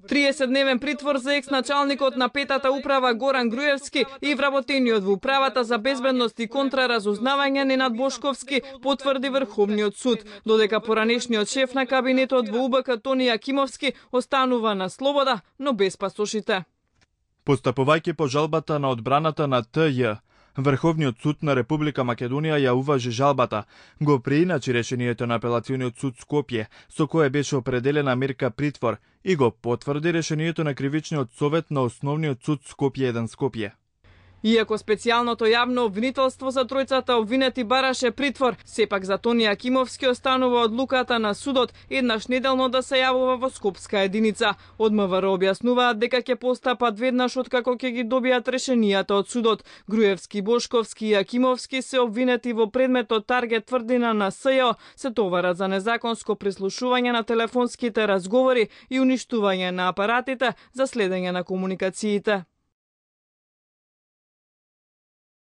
30-дневен притвор за екс-началникот на петата управа Горан Груевски и вработениот во управата за безбедност и контраразузнавање Ненад Бошковски, потврди Врховниот суд, додека поранешниот шеф на кабинетот во УБК Тони Јакимовски останува на слобода, но без пасошите. Постапувајќи по жалбата на одбраната на ТЈ, Врховниот суд на Република Македонија ја уважи жалбата, го преиначи решението на Апелациониот суд Скопје, со кое беше определена мерка притвор, и го потврди решението на Кривичниот совет на Основниот суд Скопје 1 Скопје. Иако специјалното јавно обвинителство за тројцата обвинети бараше притвор, сепак за Тони Јакимовски останува одлуката на судот еднаш неделно да се јавува во Скопска единица. Од МВР објаснуваат дека ќе постапат веднаш откако ќе ги добијат решенијата од судот. Груевски, Бошковски и Јакимовски се обвинети во предметот Таргет тврдина на СЈО, се товарат за незаконско прислушување на телефонските разговори и уништување на апаратите за следење на комуникациите.